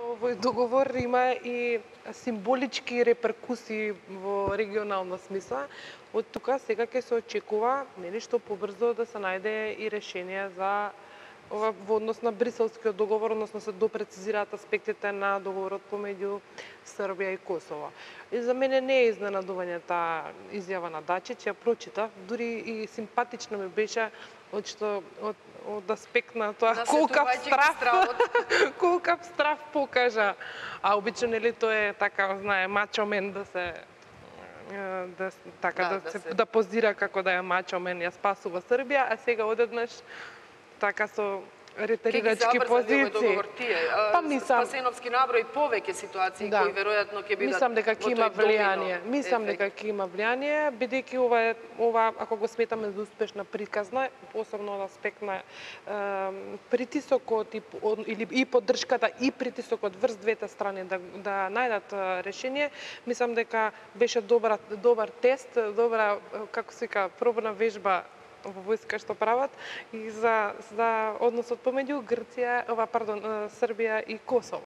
Овој договор има и символички реперкусии во регионална смисла. Од тука сега ќе се очекува нели што побрзо да се најде и решение за ова во однос на Бриселскиот договор, односно се допрецизираат аспектите на договорот помеѓу Србија и Косово. И за мене не е изненадување таа изјава на Дачич, ја прочитав, дури и симпатично ми беше од аспект на тоа Да колкав страв покажа. А обично нели тоа е така, знае, мачо мен да позира како да е мачо мен, ја спасува Србија, а сега одеднаш така со ретерирачки позиции. Па мислам, Спасеновски наброи повеќе ситуации кои веројатно ќе бидат. Мислам дека ќе има влијание. Мислам дека ќе има влијание, бидејќи ова ако го сметаме за успешна приказна, посебно од аспект на притисокот и поддршката и притисокот врз двете страни да најдат решение, мислам дека беше добар тест, добра, како се вика, пробна вежба во војска што прават и за односот помеѓу Србија и Косово.